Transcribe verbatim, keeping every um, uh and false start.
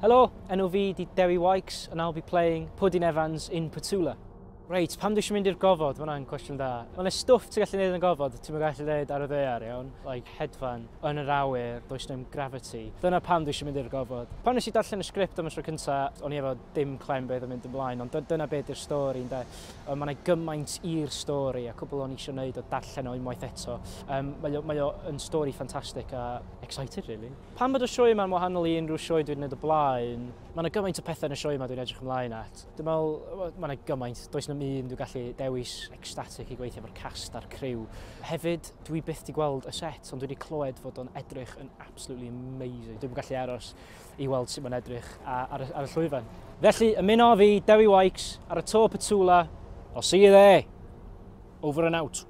Helo, enw fi di Dewi Wykes and I'll be playing Puddin Evans in Petula. Reit, pam dwi eisiau mynd i'r gofod? Mae hwnna'n cwestiwn da. Mae yna stwff ti'n gallu neud yn y gofod, ti'n gallu neud ar y ddaear, iawn. Like hedfan, yn yr awyr, does dim gravity. Dyna pam dwi eisiau mynd i'r gofod. Pan nes i darllen y sgript am y tro cynta, o'n i efo dim clem beth yn mynd ymlaen, ond dyna beth yw'r stori, ynde. Mae yna gymaint i'r stori, a cwbl o'n i eisiau neud o darllen o unwaith eto. Um, mae, o, mae o yn stori ffantastig a excited, really. Pam bod y sioe yma'n wahanol i unrhyw sioe dwi'n neud o blaen, mae yna gymaint o pethau yn y sioe yma dwi'n edrych ymlaen at. Dwi'n meddwl, mae yna gymaint, does 'na'm un dwi'n gallu dewis. Ecstatic i gweithio efo'r cast a'r criw. Hefyd, dwi byth di gweld y set, ond dwi wedi clywed fod o'n edrych yn absolutely amazing. Dwi'n gallu aros i weld sut mae'n edrych ar, ar, y llwyfan. Felly, ymuno fi, Dewi Wykes, ar y to Petula. I'll see you there. Over and out.